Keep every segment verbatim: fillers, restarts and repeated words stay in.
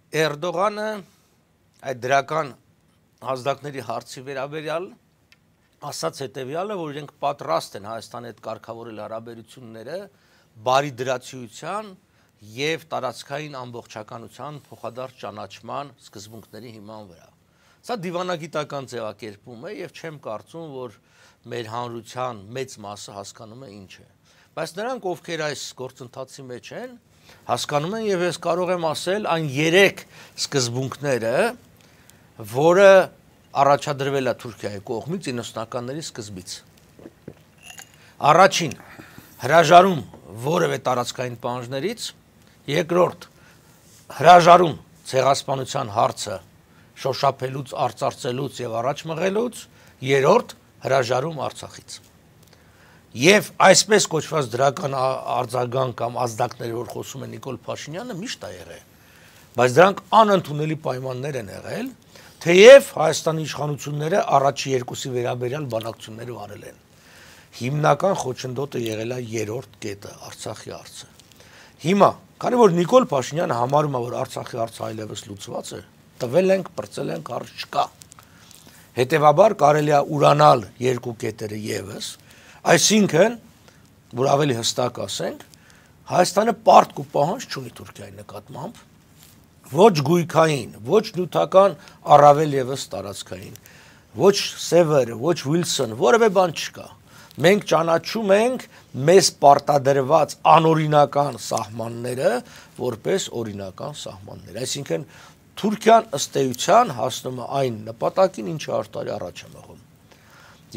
Էրդողանը այդ դրական ազդակների հարցի վերաբերյալ ասաց հետևյալը, որ իրենք պատրաստ են Հայաստանի հետ կարգավորել հարաբերությունները բարի դրացիության եւ տարածքային ամբողջականության փոխադարձ ճանաչման սկզբունքների հիման վրա։ Սա դիվանագիտական ձևակերպում է եւ չեմ կարծում, որ մեր հանրության մեծ մասը հասկանում է ինչ է։ Բայց նրանք, ովքեր այս գործընթացի մեջ են, հասկանում են եւ ես կարող եմ ասել այն երեք սկզբունքները, որը առաջադրվել է Թուրքիայի կողմից իննսունականների սկզբից։ Առաջին, հրաժարում որևէ տարածքային պահանջներից, երկրորդ, հրաժարում ցեղասպանության հարցը շոշափելուց, արծարծելուց եւ առաջ մղելուց, երրորդ, հրաժարում Արցախից։ Եվ այսպես կոչված դրական արձագանք կամ ազդակներ, որ խոսում է Նիկոլ Փաշինյանը, միշտ է եղել, բայց դրանք անընդունելի պայմաններ են եղել, թեև Հայաստանի իշխանությունները առաջի երկուսի վերաբերյալ բանակցություններ վարել են։ Հիմնական խոչընդոտը եղել է երրորդ կետը, Արցախի հարցը։ Հիմա, քանի որ Նիկոլ Փաշինյանը համարում է, որ Արցախի հարցը այլևս լուծված է, տվել ենք, պրծել ենք, հարց չկա։ Հետևաբար կարելի է ուրանալ երկու կետերը եւս, այսինքն, որ ավելի հստակ ասենք, Հայաստանը պարտք ու պահանջ չունի Թուրքիայի նկատմամբ, ոչ գույքային, ոչ նյութական, առավել եւս տարածքային, ոչ Սևերը, ոչ Վիլսոն, որևէ բան չկա։ Մենք ճանաչում ենք մեզ պարտադրված անօրինական սահմանները որպես օրինական սահմաններ։ Այսինքն Թուրքիան ըստ էության հասնում է այն նպատակին, ինչը հարյուր տարի առաջ է մղում։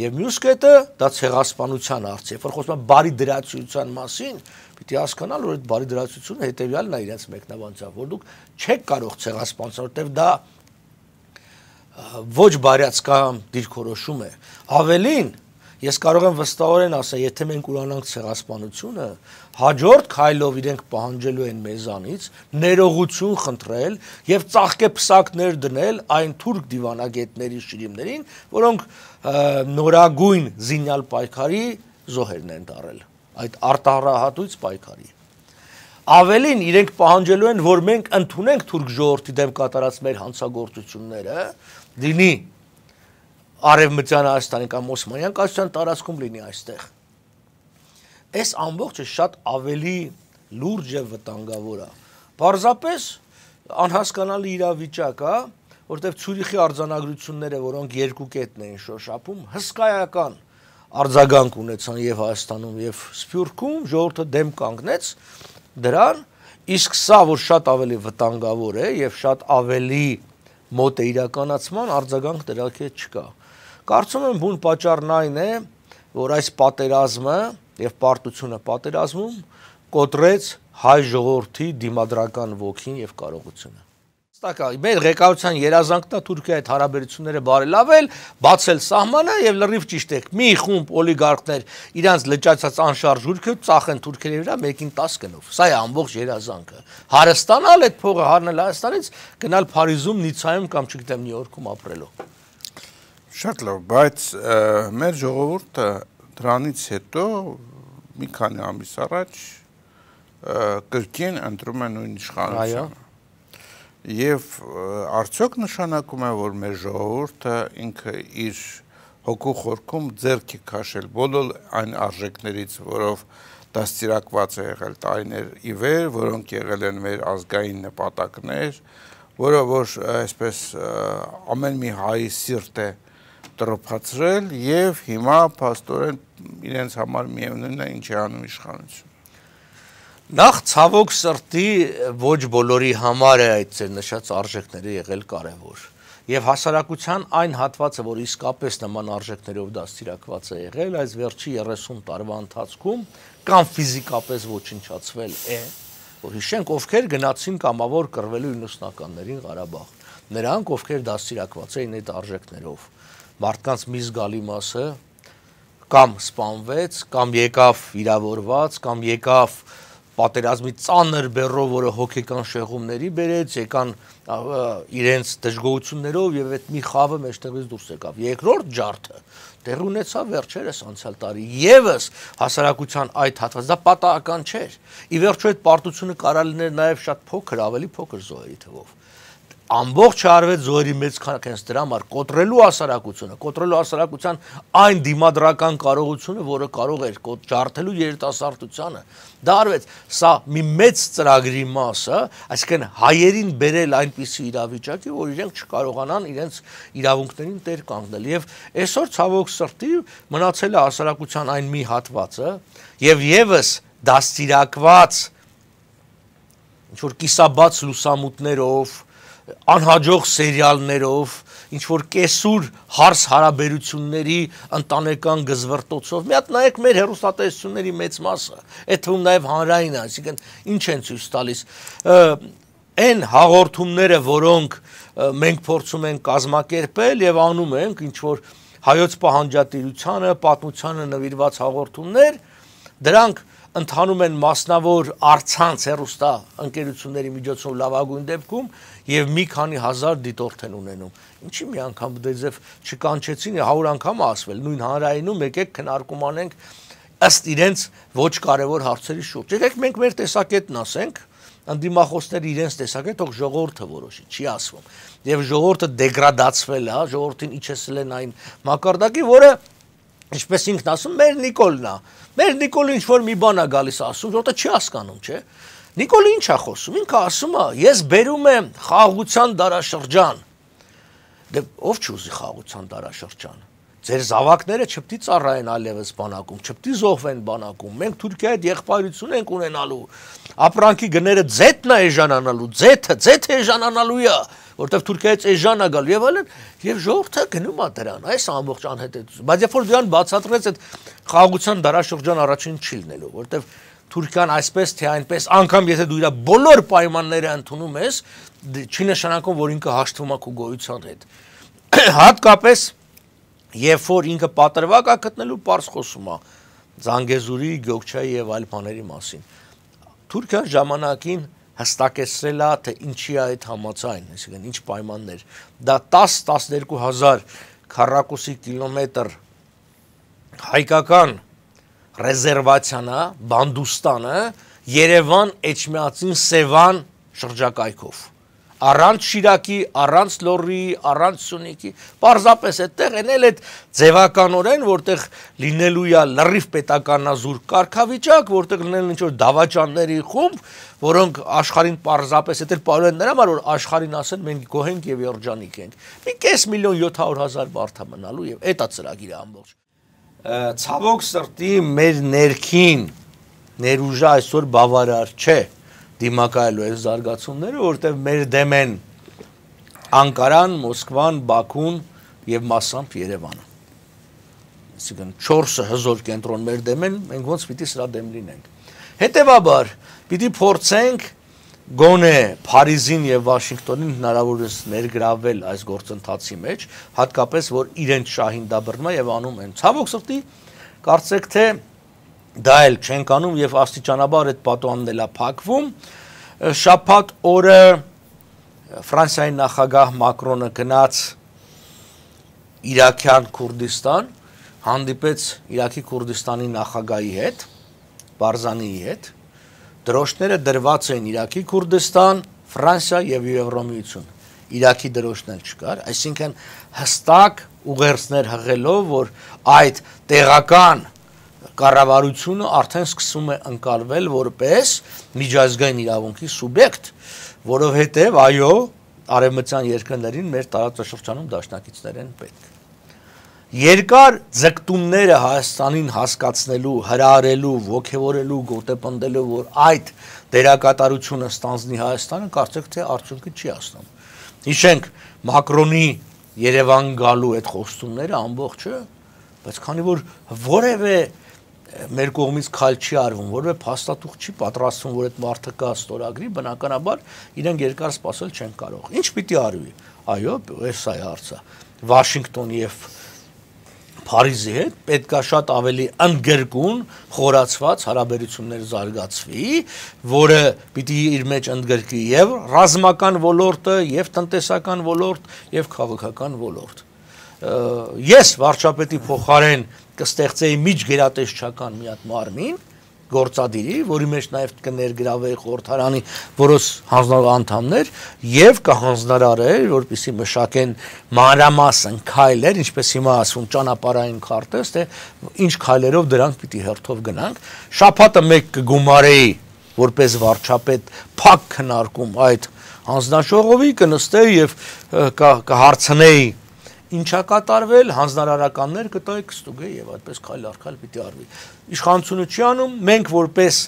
Եվ մյուս կետը դա ցեղասպանության հարց է, որ խոսում է բարի դրացիության մասին, պիտի հասկանալ, որ այդ բարի դրացիությունը հետեւյալն է իրենց մեկնաբանությամբ, որ դուք չեք կարող ցեղասպանության, որտեղ դա ոչ բարյացկամ դիրքորոշում է։ Ավելին, ես կարող եմ վստահորեն ասել, եթե մենք ուրանանք ցեղասպանությունը, հաջորդ քայլով իրենք պահանջելու են մեզանից ներողություն խնդրել եւ ծաղկեպսակներ դնել այն թուրք դիվանագետների շիրիմներին, որոնք նորագույն զինյալ պայքարի զոհերն են դարել, այդ արտահայտույց պայքարի։ Ավելին իրենք պահանջելու են, որ մենք ընդունենք թուրք ժողովրդի դեմ կատարած մեր հանցագործությունները, լինի Արևմտյան Հայաստանի կամ Օսմանյան կայսրության տարածքում լինի այստեղ։ Այս ամբողջը շատ ավելի լուրջ եւ վտանգավոր է։ Պարզապես անհասկանալի իրավիճակ է, որտեղ Ցյուրիխի արձանագրությունները, որոնք երկու կետն էին շոշափում, հսկայական արձագանք ունեցան եւ Հայաստանում եւ Սփյուռքում, ժողովուրդը դեմ կանգնեց դրան, իսկ սա, որ շատ ավելի վտանգավոր է եւ շատ ավելի մոտ է իրականացման, արձագանք դրա հետ չկա։ Կարծում եմ բուն պատճառն այն է, որ այս պատերազմը եւ պարտությունը պատերազմում կոտրեց հայ ժողովրդի դիմադրական ոգին եւ կարողությունը։ Ստակա, մեր ղեկավարության երազանքն է Թուրքիայի հետ հարաբերությունները բարելավել, բացել սահմանը եւ լրիվ ճիշտ է։ Մի խումբ օլիգարխներ իրանց լճացած անշարժ ուրքը ծախեն թուրքերի վրա մեկին տասը գնով։ Սա է ամբողջ երազանքը։ Հարստանալ այդ փողը հանել Հայաստանից, գնալ Փարիզում, Նիցայում կամ չգիտեմ Նյու Յորքում ապրելու։ Շատ լավ, բայց մեր ժողովուրդը դրանից հետո մի քանի ամիս առաջ կրկին ընտրում է նույն իշխանությունը։ Եվ արդյոք նշանակում է, որ մեր ժողովուրդը ինքը իր հոգու խորքում ձեռք է քաշել բոլոր այն արժեքներից, որով դաստիարակված է եղել տարիներ ի վեր, որոնք եղել են մեր ազգային նպատակներ, որը որ այսպես ամեն մի հայի սիրտ է տրոփացրել եւ հիմա փաստորեն իրենց համար միևնույնն է ինչ է անում իշխանությունը։ Նախ ցավոք սրտի ոչ բոլորի համար է այդ ձեր նշած արժեքները եղել կարևոր եւ հասարակության այն հատվածը, որ իսկապես նման արժեքներով դաստիարակված է եղել, այս վերջի երեսուն տարվա ընթացքում կամ ֆիզիկապես ոչնչացվել է, որ հիշենք ովքեր գնացին կամավոր կռվելու իննսունականներին Ղարաբաղ, նրանք ովքեր դաստիարակված էին այդ արժեքներով, մարդկանց մի զգալի մասը կամ սպանվեց, կամ եկավ վիրավորված, կամ եկավ պատերազմի ծանր բեռով, որը հոգեկան շեղումների բերեց, եկան իրենց դժգոհություններով եւ այդ մի խավը մեջտեղից դուրս եկավ։ Երկրորդ ջարդը տեղ ունեցավ վերջերս անցյալ տարի եւս հասարակության այդ հատվածը, դա պատահական չէր։ Ի վերջո այդ պարտությունը կարա լիներ նաեւ շատ փոքր, ավելի փոքր զոհերի թվով։ ամբողջ արևեց զոհերի մեծ քանակ հենց դրա համար կոտրելու հասարակությունը, կոտրելու հասարակության այն դիմադրական կարողությունը, որը կարող էր ջարդելու երիտասարդությանը, դա արվեց, սա մի մեծ ծրագրի մասը, այսինքն հայերին բերել այնպիսի իրավիճակի, որ իրենք չկարողանան իրենց իրավունքներին տեր կանգնել, եւ այսօր ցավոք սրտի մնացել է հասարակության այն մի հատվածը, եւ եւս դաստիարակված ինչ-որ կիսաբաց լուսամուտներով, անհաջող սերիալներով, ինչ-որ կեսուր հարս հարաբերությունների ընտանեկան գզվրտոցով, մի հատ նայեք մեր հեռուստատեսությունների մեծ մասը, այդ թվում նաև հանրայինը, այսինքն ինչ են ցույց տալիս, այն հաղորդումները, որոնք մենք փորձում ենք կազմակերպել եւ անում ենք, ինչ-որ հայոց պահանջատիրությանը, պատմությանը նվիրված հաղորդումներ, դրանք ընթանում են մասնավոր առցանց հեռուստա ընկերությունների միջոցով լավագույն դեպքում եւ մի քանի հազար դիտորդ են ունենում։ Ինչի մի անգամ դեզև չկանչեցին, հարյուր անգամ ասվել, նույն հանրայինում եկեք քննարկում անենք ըստ իրենց ոչ կարևոր հարցերի շուրջ։ Եկեք մենք մեր տեսակետն ասենք, անդիմախոսները իրենց տեսակետ, թող ժողովուրդը որոշի, չի ասվում։ Եվ ժողովուրդը դեգրադացվել է, ժողովրդին իջեցել են այն մակարդակի, որը ինչպես ինքն ասում, մեր Նիկոլն է։ Մեր Նիկոլը ինչ-որ մի բան է գալիս ասում, որտեղ չի հասկանում, չէ։ Նիկոլը ինչ է խոսում, ինքը ասում է, ես բերում եմ խաղաղության դարաշրջան։ Դե ով չուզի խաղաղության դարաշրջան։ Ձեր զավակները չպետք է ծառայեն այլևս բանակում, չպետք է զոհվեն բանակում։ Մենք Թուրքիայի հետ եղբայրություն ենք ունենալու։ Ապրանքի գները ձեթն է էժանանալու, ձեթը, ձեթը էժանանալու է, որտեղ Թուրքիայից էժան է գալու եւ այլն, եւ ժողովուրդը գնում է դրան, այս ամբողջ անհետեթություն։ Բայց երբ որ դրան բացատրեց, այդ խաղաղության դարաշրջան առաջին չի լինելու, որտեղ Թուրքիան այսպես թե այնպես, անգամ եթե դու իր բոլոր պայմանները ընդունում ես, չի նշանակում, որ ինքը հաշտվում է քո գոյության հետ։ Հատկապես երբ որ ինքը պատրվակ է գտնելու, պարզ խոսում է Զանգեզուրի, Գյոքչայի եւ այլ բաների մասին։ Թուրքիան ժամանակին հստակեցրել է, թե ինչի է այդ համաձայն, այսինքն ինչ պայմաններ։ Դա տաս տասներկու հազար քառակուսի կիլոմետր հայկական ռեզերվացիան է, Բանդուստանը, Երևան, Էջմիածին, Սևան շրջակայքով։ Առանց Շիրակի, առանց Լոռի, առանց Սյունիքի, պարզապես այդտեղ են էլ այդ ձևականորեն, որտեղ լինելու է լրիվ պետականազուր կարգավիճակ, որտեղ լինելու ինչ-որ դավաճանների խումբ, որոնք աշխարհին պարզապես այդ էլ պարոն են նրա համար, որ աշխարհին ասեն մենք գոհ ենք եւ երջանիկ ենք։ Մի կես միլիոն յոթ հարյուր հազար բարդ է մնալու եւ այդ է ծրագիրը ամբողջ։ Ցավոք սրտի մեր ներքին ներուժը այսօր բավարար չէ դիմակայելու այս զարգացումները, որտեղ մեր դեմ են Անկարան, Մոսկվան, Բաքուն եւ մասամբ Երևանը։ Այսինքն չորսը հզոր կենտրոն մեր դեմ են, մենք ոնց պիտի սրա դեմ լինենք։ Հետևաբար պիտի փորձենք գոնե Փարիզին եւ Վաշինգտոնին հնարավորինս ներգրավել այս գործընթացի մեջ, հատկապես որ իրենց շահին դա բռնում է եւ անում են։ Ցավոք սրտի կարծեք թե դա էլ չենք անում եւ աստիճանաբար այդ պատուհանն էլ է փակվում։ Շաբաթ օրը Ֆրանսիայի նախագահ Մակրոնը գնաց Իրաքյան Քուրդիստան, հանդիպեց Իրաքի Քուրդիստանի նախագահի հետ, Բարզանիի հետ։ Դրոշները դրված էին Իրաքի Քուրդիստան, Ֆրանսիա եւ Եվրոմիություն։ Իրաքի դրոշն էլ չկար, այսինքն հստակ ուղերձներ հղելով, որ այդ տեղական կառավարությունը արդեն սկսում է ընկալվել որպես միջազգային իրավունքի սուբյեկտ, որովհետև այո, արևմտյան երկրներին մեր տարածաշրջանում դաշնակիցներ են պետք։ Երկար ձգտումները Հայաստանին հասկացնելու, հրահրելու, ոգևորելու, գոտեպնդելու, որ այդ դերակատարությունը ստանձնի Հայաստանը, կարծեք թե արդյունքի չի հասնում։ Հիշենք Մակրոնի Երևան գալու այդ խոստումները ամբողջը, բայց քանի որ որևէ մեր կողմից քայլ չի արվում, որևէ փաստաթուղթ չի պատրաստվում, որ այդ մարդը կա ստորագրի, բնականաբար իրենք երկար սպասել չեն կարող։ Ինչ պիտի արվի։ Այո, էս է հարցը։ Վաշինգտոնի եւ Փարիզի հետ պետք է շատ ավելի ընդգրկուն, խորացված հարաբերություններ զարգացվի, որը պիտի իր մեջ ընդգրկի եւ ռազմական ոլորտը, եւ տնտեսական ոլորտ, եւ քաղաքական ոլորտ։ Ես վարչապետի փոխարեն կստեղծեի միջգերատեսչական մի հատ մարմին, գործադիրի, որի մեջ նաև կներգրավեի խորհրդարանի որոշ հանձնարար անդամներ եւ կհանձնարարեր, որպեսզի մշակեն մանրամասն քայլեր, ինչպես հիմա ասում ճանապարհային քարտեզ, թե ինչ քայլերով դրանք պիտի հերթով գնանք։ Շաբաթը մեկ կգումարեի որպես վարչապետ փակ քննարկում այդ հանձնաժողովի կնստեի եւ կհարցնեի ինչա կատարվել, հանձնարարականներ կտայի կստուգեի եւ այդպես քայլ առ քայլ պիտի արվի։ Իշխանությունը չի անում, մենք որպես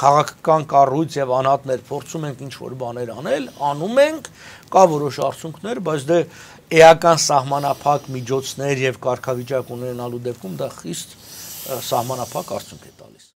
քաղաքական կառույց եւ անհատներ փորձում ենք ինչ-որ բաներ անել, անում ենք, կա որոշ արդյունքներ, բայց դե էական սահմանափակ միջոցներ եւ կարգավիճակ ունենալու դեպքում դա խիստ սահմանափակ արդյունք է տալիս։